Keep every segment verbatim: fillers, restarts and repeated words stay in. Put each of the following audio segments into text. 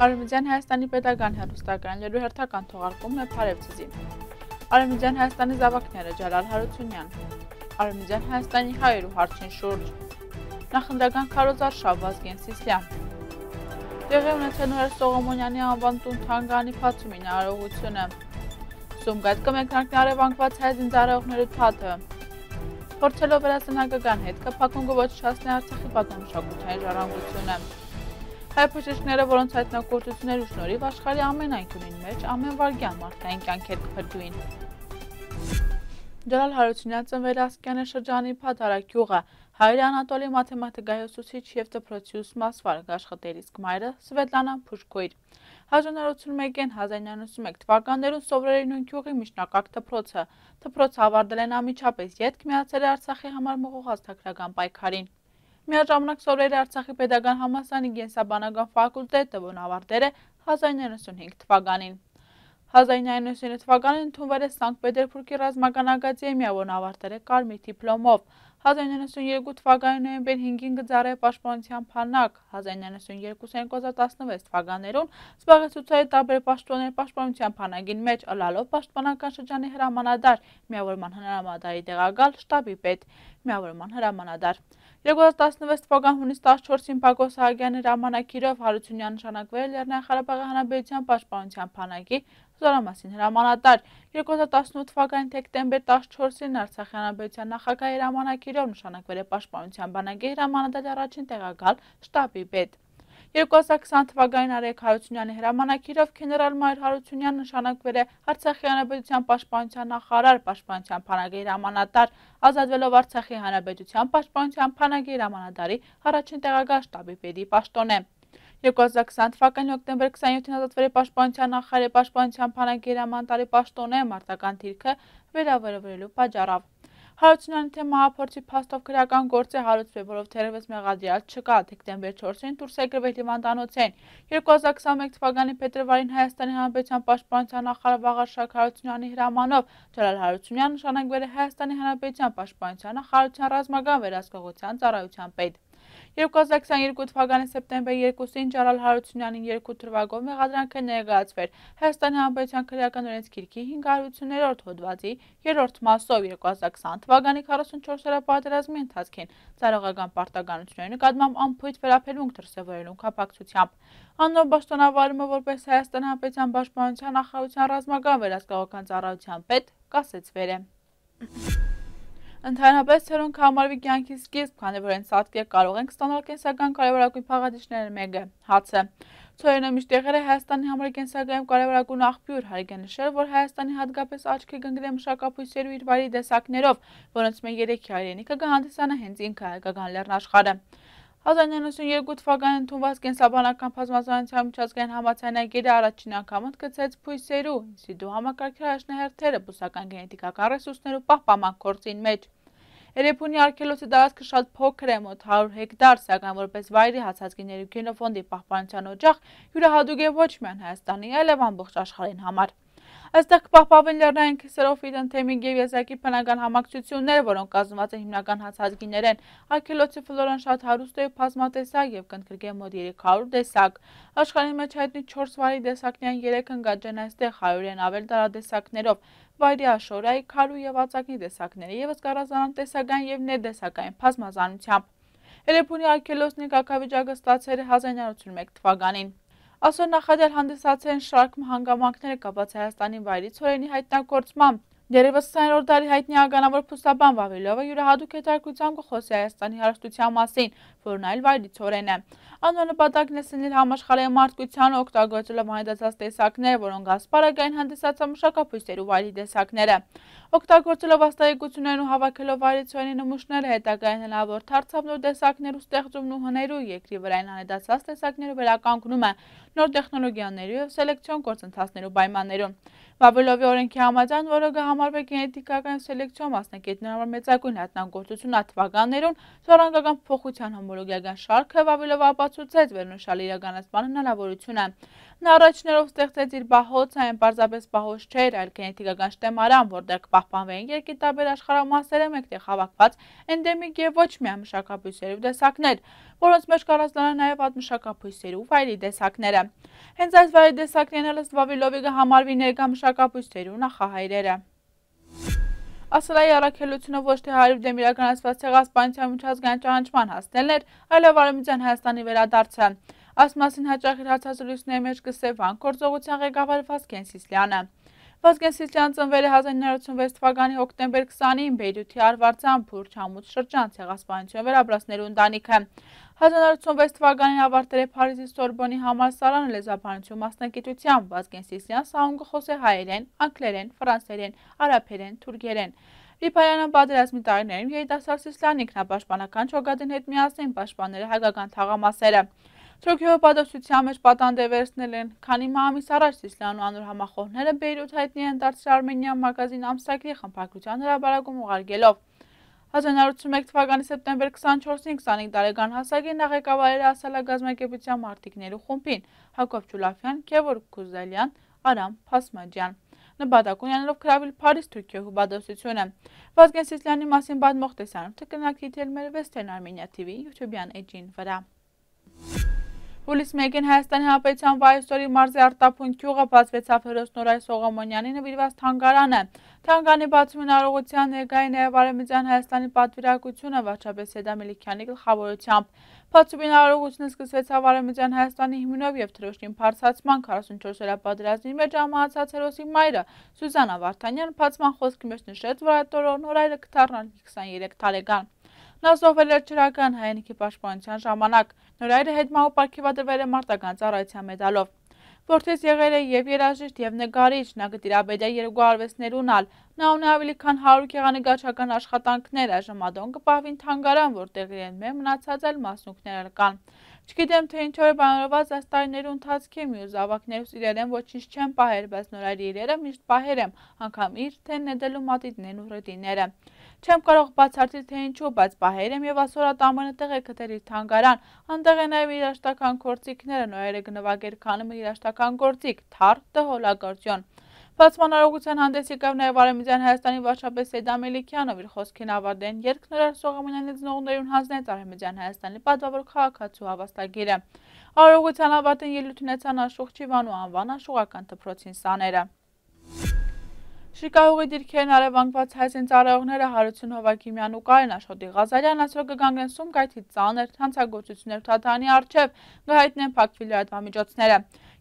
Արևմտյան Հայաստանի պետական հեռուստաեկրաններու հերթական թողարկումն է Փարեվցիզին։ Արևմտյան Հայաստանի զավակները Ջալալ Հարությունյան։ Արևմտյան Հայաստանի հայերու հարցին շուրջ։ Նախնդրական քարոզար Շավազգեն Սիսլյան։ Տեղի ունեցել Նուրեր Սողոմոնյանի անվան տուն թանգարանի բացումի արարողությունը։ Սումգայիթ կմեկնարկի արևանկված հայ զինծառայողներու թաթը։ Փորձելով վերածնագական հետքը փակուն գոչացնել Արցախի պատմամշակութային ժառանգությունը։ Հայ փոքրիկները, որոնց հայտնագործությունների շնորհիվ աշխարհի ամեն անկյունին մեջ ամեն վայրկյան մարդկային կյանքեր կփրկվին։ Ջալալ Հարությունյան ծնվել է Ասկյանի շրջանի Փաթարագյուղը, հայրը Անատոլի մաթեմատիկայի ուսուցիչ եւ դպրոցի ուսմասվարկ աշխատել, իսկ մայրը Սվետլանա Փուշկոիր։ հազար նորը ութսունմեկ հազար իննսուն ութսունմեկ թվականներուն սովորել է նույն գյուղի միջնակարգ դպրոցը։ Դպրոցը ավարտել են անմիջապես ետք միացել է Արցախի համար մղողած թաքրական պայքարին։ Միաժամանակ սովորել է Արցախի պետական համալսարանի կենսաբանական ֆակուլտետը, որն ավարտել է հազար իննսուն նվաթ թվականին։ հազար իննսուն նվաթ թվականին ընդունվել է Սանկտ Պետերբուրգի ռազմական ակադեմիա, որն ավարտել է կարմիր դիպլոմով։ հազար իննսուն նվաթ թվականի նոյեմբեր հինգին գծառ է պաշտպանության փանակ, հազար իննսուն երկու հազար տասնվեց թվականներուն զբաղեցուցել է տարբեր պաշտոններ պաշտպանության փանագին մեջ, ըլլալով պաշտպանական շրջանի հրամանատար, միավորման հրամանատարի տեղակալ, շտաբի պետ, միավորման հրամանատար։ երկու հազար տասնվեց թվական հունիս տասնչորսին Բակո Սահակյանի հրամանագիրով Հարությունյանը նշանակվել է Լեռնային Ղարաբաղի Հանրապետության պաշտպանության փանագի զորամասին հրամանատար։ երկու հազար տասնութ թվականի դեկտեմբեր տասնչորսին Արցախի Հանրապետության նախագահի հրամանագիրով նշանակվել է պաշտպանության բանակի հրամանատարի առաջին տեղակալ, շտաբի պետ։ երկու հազար քսան թվականին Արեգ Հարությունյանի հրամանագիրով գեներալ-մայոր Հարությունյանը նշանակվել է Արցախի Հանրապետության պաշտպանության նախարար, պաշտպանության փանագի հրամանատար, ազատվելով Արցախի Հանրապետության պաշտպանության փանագի հրամանատարի առաջին տեղակալ, շտաբի պետի պաշտոն է։ երկու հազար քսան թվականի հոկտեմբեր քսաներկուսին ազատվել է պաշտպանության նախարարի պաշտպանության փանագի հրամանատարի պաշտոն է մարտական թիրքը վերավերվելու պատճառով։ Հարությունյանի թե մահափորձի փաստով քրեական գործ է հարուցվել, որով թերևս մեղադրյալ չկա։ Դեկտեմբեր չորսին դուրս եկրվել հիվանդանոցեն։ երկու հազար քսանմեկ թվականի փետրվարին Հայաստանի Հանրապետության պաշտպանության նախարար Վաղարշակ Հարությունյանի հրամանով Ջալալ Հարությունյանը նշանակվել է Հայաստանի Հանրապետության պաշտպանության նախարարության ռազմական վերահսկողության ծառայության պետ։ երկու հազար քսաներկու թվականի սեպտեմբեր երկուսին Ջալալ Հարությունյանին երկու թրվագով մեղադրանք է ներկայացվել Հայաստանի Հանրապետության քրեական օրենսգիրքի հինգարասուններորդ հոդվածի երրորդ մասով երկու հազար քսան թվականի քառասունչորս օրյա պատերազմի ընթացքին ծառայողական պարտականությունների նկատմամբ անփույթ վերաբերմունք դրսևորելու կապակցությամբ։ Անոր պաշտոնավարումը որպես Հայաստանի Հանրապետության պաշտպանության նախարարության ռազմական վերահսկողական ծառայության պետ կասեցվել է։ Ընդհանրապես ցերոնք համարվի կյանքի սկիզբ, քանի որ հենց սատկե կարող ենք ստանալ կենսական կարևորագույն փաղադիշները մեկը՝ հացը։ Ցորենը միշտ եղել է Հայաստանի համար կենսագրայում կարևորագույն աղբյուր, հարկ է նշել, որ Հայաստանի հատկապես աչքի կընկնել մշակաբույսերու իր վայրի տեսակներով, որոնց մեկ երեքի հայրենիքը կհանդիսանա հենց ինքը հայկական լեռնաշխարհը։ հազար իննսուն ութսուն երկու թվականին ընդունված կենսաբանական բազմազանության միջազգային համաձայնագիրը առաջին անգամ ընդգծեց բույսերու ինսիդու համակարգի առաջնահերթերը բուսական գենետիկական ռեսուրսներու պահպանման գործին մեջ։ Էրեբունի արգելոցի տարածքը շատ փոքր է, մոտ հարյուր հեկտար, սակայն որպես վայրի հացածքիների գենոֆոնդի պահպանության օջախ յուրահատուկ է ոչ միայն Հայաստանի, այլև ամբողջ աշխարհին համար։ Այստեղ կպահպանվեն լեռնային քիսերով ֆիտոթերմիկ եւ եզակի բնական համակցություններ, որոնք կազմված են հիմնական հացածքիներեն։ Արգելոցի ֆլորան շատ հարուստ է եւ բազմատեսակ եւ կընդգրկե մոտ երեք հարյուր տեսակ։ Աշխարհի մեջ հայտնի չորս վայրի տեսակներն երեք ընկած են այստեղ հարյուրեն ավել տարատեսակներով։ Վայրի աշորայի, քարու եւ ածակի տեսակները եւս կառանձնան տեսական եւ ներտեսակային բազմազանությամբ։ Էրեբունի արգելոցի կարգավիճակը ստացել է հազար իննսուն ութսունմեկ թվականին։ Այսօր նախադյալ հանդիսացել են շարք հանգամանքներ կապված Հայաստանի վայրի ցորենի հայտնագործմամբ։ Դերևս քսաներորդ դարի հայտնի ականավոր փուստաբան Վավիլովը յուրահատուկ հետարկությամբ կխոսի Հայաստանի հարստության մասին, որն այլ վայրի ցորեն է։ Անոր նպատակն է սննել համաշխարհային մարդկությանը օգտագործելով հայտնացած տեսակներ, որոնք ասպարագային հանդիսացած մշակաբույսերու վայրի տեսակները։ Օգտագործելով աստղագիտություններն ու հավաքելով վայրի ցորենի նմուշները հետագային հնարավոր դարձավ նոր տեսակներու ստեղծումն ու հներու երկրի վրային անհետացած տեսակներու վերականգնումը նոր տեխնոլոգիաներու եւ սելեկցիոն գործընթացներու պայմաններում։ Վավիլովի օրենքի համաձայն, որը կհամարվի գենետիկական սելեկցիոն մասնագետների համար մեծագույն հայտնագործություն թվականներուն, ժառանգական փոփոխության հոմոլոգիական շարքը Վավիլովը ապացուցեց վերնշյալ իրականացման հնարավորությունը։ Նա առաջներով ստեղծեց իր բահոցը, այն պարզապես բահոց չէր, այլ գենետիկական շտեմարան, որտեղ կպահպանվեին երկրի տարբեր աշխարհամասերը մեկտեղ հավաքված էնդեմիկ եւ ոչ միայն մշակաբույսերի տեսակներ, որոնց մեջ կառուցլանան նաև պատմշակաբույսերի ու վայրի տեսակները։ Հենց այս վայրի տեսակներն էլ ըստ Վավիլովի կհամարվի ներկա մշակաբույսերի ու նախահայրերը։ Ասալայի առաքելությունը ոչ թե հարյուր դեմ իրականացված ցեղասպանության միջազգային ճանաչման հասնելն էր, այլև Արևմտյան Հայաստանի վերադարձը։ Այս մասին հաճախ իր հարցազրույցների մեջ կսե Վանք գործողության ղեկավար Վազգեն Սիսլյանը։ Վազգեն Սիսլյանը ծնվել է հազար իննյակ հարյուր ութսունվեց թվականի հոկտեմբեր քսանին Բեյրութի Արվարձան Փուրջ Համուտ շրջան ցեղասպանություն վերապրածնելու ընտանիքը։ հազար իննյակ հարյուր ութսունվեց թվականին ավարտել է Փարիզի Սորբոնի համալսարանը լեզվաբանություն մասնագիտությամբ։ Վազգեն Սիսլյան սահուն կխոսե հայերեն, անգլերեն, ֆրանսերեն, արաբերեն, թուրքերեն։ Լիբանան պատերազմի տարիներին երիտասարդ Սիսլյանը ինքնապաշտպանական ճոգադին հետ միասին պաշտպանել է հայկական թաղամասերը։ Թուրքիոյի պատասխանության մեջ պատանդ է վերցնել են, քանի ամիս առաջ Սիսլյանն ու անոր համախոհները Բեյրութ հայտնի են դարձրել Armenian Magazine ամսագրի խմբագրության հրապարակում ուղարկելով։ հազար իննյակ հարյուր ութսունմեկ թվականի սեպտեմբեր քսանչորսին քսանհինգ տարեկան հասակի նա ղեկավարել է Ասալա գազམ་ակերպության մարտիկներու խումբին՝ Հակոբ Ջուլաֆյան, Գևորգ Քուզելյան, Արամ Փասմաջյան։ Նպատակ ունենալով գրավել Փարիզ Թուրքիոյի պատասխանությունը։ Վազգեն Սիսլյանի մասին պատմող տեսանյութը կնակնիթել մեր Western Armenia T V YouTube-յան էջին վրա։ Հուլիսի մեկին Հայաստանի Հանրապետության Վայոց ձորի մարզի Արտափուն գյուղը բացվեցավ հերոս Նորայր Սողոմոնյանի նվիրված թանգարանը։ Թանգարանի բացումն արարողության ներկայի նաև Արևմտյան Հայաստանի պատվիրակությունը վարչապետ Սեդա Մելիքյանի գլխավորությամբ։ Բացումին արարողությունը սկսվեցավ Արևմտյան Հայաստանի հիմնով եւ թրոշին բարձրացման քառասունչորս օրյա պատերազմի մեջ ամահացած հերոսի մայրը Սուզաննա Վարդանյան բացման խոսքի մեջ նշեց, որ այդ օրը Նորայրը կդառնա քսաներեք տարեկան։ Նա զոհվել էր ջրական հայրենիքի պաշտպանության ժամանակ։ Նորայրը հետմահու պարգևատրվել է մարտական ծառայության մեդալով։ Որդից եղել է եւ երաժիշտ եւ նկարիչ, նա գտիրաբեդ է երկու արվեստներ ունալ։ Նա ունի ավելի քան հարյուր գեղանկարչական աշխատանքներ, այժմ Ադոն կպահվին թանգարան, որտեղ իրեն մե մնացած այլ մասնուկներ կան։ Չգիտեմ, թե ինչով է բանալված այս տարիների ընթացքում մյուս զավակներուս իրեն ոչինչ չեն պահել, բայց Նորայրի իրերը միշտ պահել եմ, անգամ իր թե նետելու մատիտներն ու ռետիները։ Չեմ կարող բացատրել, թե ինչու, բայց պահել եմ եւ այսօր ամենը տեղ է գտել իր թանգարան։ Անտեղ է նաեւ իր երաժշտական գործիքները, Նորայրը գնվագեր քանում իր երաժշտական գործիք, թար, դհոլագործյուն։ Բացման արարողության հանդես եկավ նաև Արևմտյան Հայաստանի վարչապետ Սեդա Մելիքյանով, իր խոսքին ավարտեն երգ Նորայր Սողոմոնյանի ծնողներուն հանձնեց Արևմտյան Հայաստանի պատվավոր քաղաքացու հավաստագիրը։ Արարողության ավարտին ելույթ ունեցան Աշուղ Չիվանու անվան աշխուղական դպրոցին սաները։ Շիկահողի դիրքերն արևանգված հայ զինծառայողները Հարություն Հովակիմյան ու Կարեն Աշխոտի Ղազարյան այսօր կգանգնեն Սումգայիթի ծանր հանցագործություններ թաթարանի առջև, կհայտնեն փակվի լրատվամիջոցները։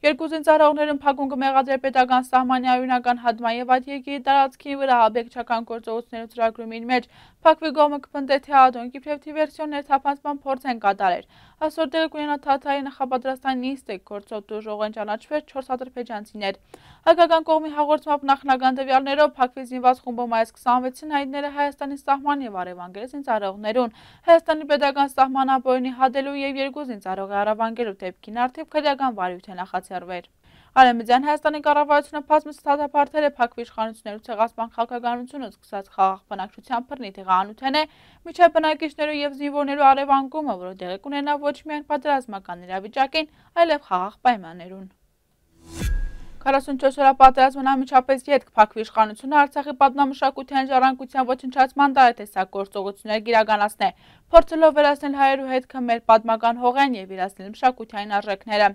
Երկու զինծառայողներն փակում կմեղադրել պետական սահմանի արյունական հատման եւ այդ երկրի տարածքի վրա աբեկչական գործողությունների ծրագրումին մեջ փակվի գոմը կպնդե թե Ադոն Կիփրև դիվերսիոն ներթափանցման փորձ են կատարել։ Այսօր դերը կունենա Թաթարի նախապատրաստան նիստը գործով դժող են ճանաչվել չորս ադրբեջանցիներ։ Հայկական կողմի հաղորդմամբ նախնական տվյալներով փակվի զինված խումբը մայիս քսանվեցին հայտնել է Հայաստանի սահման եւ առևանգել զինծառայողներուն։ Հայաստանի պետական սահմանապորինի հադելու եւ երկու զինծառայողի առևանգելու դեպքին արդյոք քրեական վարույթ է նախաձեռնել։ Արևմտյան Հայաստանի կառավարությունը փաստմս դատապարտել է փակվի իշխանությունների ցեղասպան քաղաքականությունը սկսած խաղաղ բնակչության բռնի տեղահանութեն է միջև բնակիչներու եւ զինվորներու առևանգումը, որը տեղի կունենա ոչ միայն պատերազմական իրավիճակին, այլև խաղաղ պայմաններուն։ քառասունչորս օրյա պատերազմն անմիջապես ետք փակվի իշխանությունը Արցախի պատմամշակութային ժառանգության ոչնչացման տարատեսակ գործողություններ իրականացնե, փորձելով վերացնել հայերու հետքը մեր պատմական հողեն եւ իրացնել մշակութային արժեքները։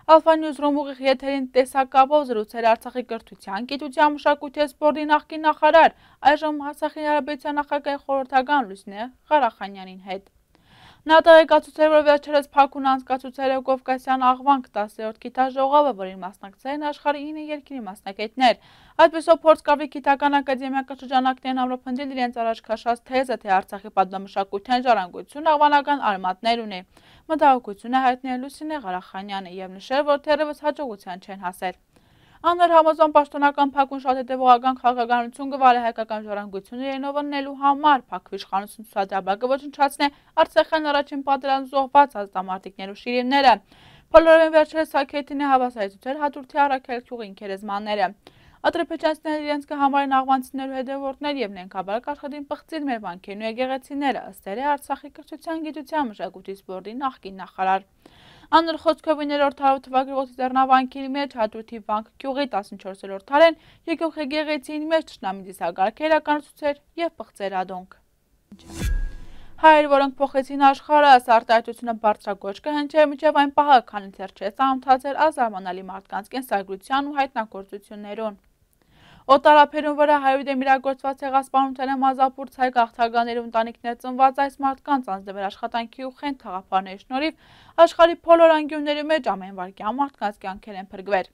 Alpha News-ում ուղիղ եթերին տեսակապով զրուցել Արցախի կրթության, գիտության, մշակույթի եւ սպորտի նախկին նախարար, այժմ Արցախի Հանրապետության նախագահի խորհրդական Լուսինե Ղարախանյանին հետ։ Նա տեղեկացուցել, որ վերջերս փակուն անցկացուցել է Կովկասյան աղվանք տասերորդ գիտաժողովը, որին մասնակցել են աշխարհի ինը երկրի մասնակիցներ։ Այդպիսով փորձ կավի գիտական ակադեմիական շրջանակներն ամրապնդել իրենց առաջ քաշած թեզը, թե Արցախի պատմամշակութային ժառանգությունը աղվանական արմատներ ունի։ Մտահոգությունը հայտնել Լուսինե Ղարախանյանը եւ նշել, որ թերևս հաջողության չեն հասել։ Անոր համոզման պաշտոնական փակուն շատ հետևողական քաղաքականություն կվարի հայկական ժառանգությունը իրենովնելու համար փակվի իշխանություն ցուցադրաբակը ոչնչացնե Արցախյան առաջին պատերազմ զոհված ազատամարտիկներու շիրիմները։ Բոլորովին վերջերս Սաքեթին է հավասարեցուցել հատուրթի առաքելքի ինքերեզմանները։ Ադրբեջանցիները իրենց կհամարեն աղվանցիներու հետևորդներ եւ նենքաբար կաշխատին պղծիլ մեր վանքերն ու եկեղեցիները, ըստ է Արցախի կրթության, գիտության, մշակույթի, սպորտի նախկին նախարար։ Անոր խոսքով երրորդ հարյուր թվականի օգոստոսի մեջ Հադրութի Վանք գյուղի տասնչորսերորդ տարեն եկող եկեղեցին մեջ թշնամի դիսակարգ իրականացուցեր եւ պղծեր ադոնք։ Հայեր, որոնք փոխեցին աշխարհը, արտահայտությունը բարձրագույն կհնչեր մինչև այն պահը, քանի դեռ չէ ծանոթացել ազարմանալի մարդկանց կենսագրության ու հայտնագործություններուն։ Օտարափերուն վրա հայերի դեմ իրագործված ցեղասպանության մազապուրց հայ գաղթականների ընտանիքներ ծնված այս մարդկանց անձնվեր աշխատանքի ու խենթ թաղապարների շնորհիվ աշխարհի բոլոր անկյունների մեջ ամեն վայրկյան մարդկանց կյանքեր են փրկվել։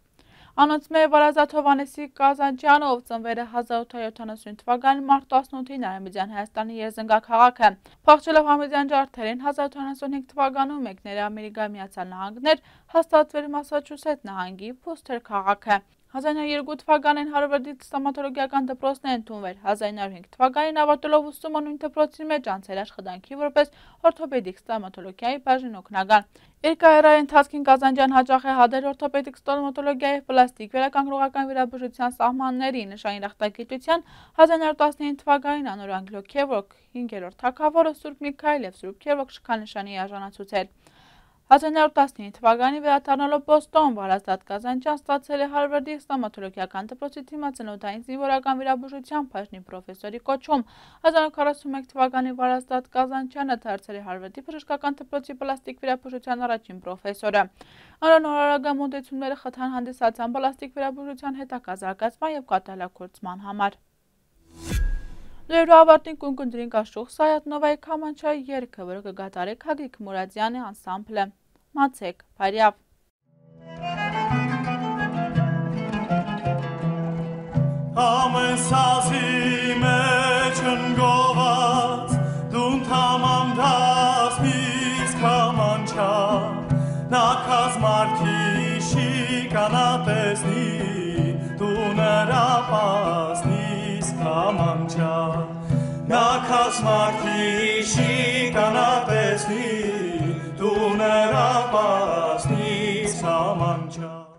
Անոնց մեջ Վարազատ Հովհաննեսի Կազանջյանը, ով ծնվել է հազար ութ հարյուր յոթանասուն թվականին մարտ տասնութին Արևմտյան Հայաստանի Երզնգա քաղաքը, փախչելով համեզյան ջարդերին հազար ութ հարյուր հիսունհինգ թվականում մեկներ Ամերիկայի Միացյալ Նահանգներ, հաստատվել Մասաչուսեթ նահանգի Փոստեր քաղաքը։ հազար նույնսուն երկու թվականին Հարվարդի ստոմատոլոգիական դպրոցն է ընդունվել, հազար նույնսուն հինգ թվականին ավարտելով ուսումը նույն դպրոցի մեջ անցել աշխատանքի որպես օրթոպեդիկ ստոմատոլոգիայի բաժին օգնական։ Իր կարիերայի ընթացքին Կազանջյան հաճախ է հատել օրթոպեդիկ ստոմատոլոգիայի պլաստիկ վերականգնողական վիրաբուժության սահմանների նշանի ախտագիտության, հազար նույնսուն տասնինը թվականին անոր անգլոքևոք հինգերորդ թագավորը Սուրբ Միքայել եւ Սուրբ Գևորգ շքանշանի արժանացուցել։ հազար նույնսուն տասնինը թվականին վերադառնալով Բոստոն, Վարազդատ Կազանջյան ստացել է Հարվարդի ստոմատոլոգիական դպրոցի դիմացնօդային զինվորական վիրաբուժության բաժնի պրոֆեսորի կոչում։ հազար նույնսուն քառասունմեկ թվականին Վարազդատ Կազանջյանը դարձել է Հարվարդի բժշկական դպրոցի պլաստիկ վիրաբուժության առաջին պրոֆեսորը։ Անոր նորարարական մոտեցումները խթան հանդիսացան պլաստիկ վիրաբուժության հետագա զարգացման եւ կատարելագործման համար։ Լուրերու ավարտին կունկնդրինք աշխուղ Սայաթնովայի Քամանչայի երգը, որը կգատարի Հակիկ Մուրադյանի անսամբլը։ Մացեք, բարյավ։ Ամեն սազի մեջ ընգոված, դուն թամամդասնից Քամանչա, նա կազմարդի շիկանատեսնի, դու նրա պասնից Քամանչա, նա կազմարդի շիկանատեսնի, դու նրա պասնից Քամանչա։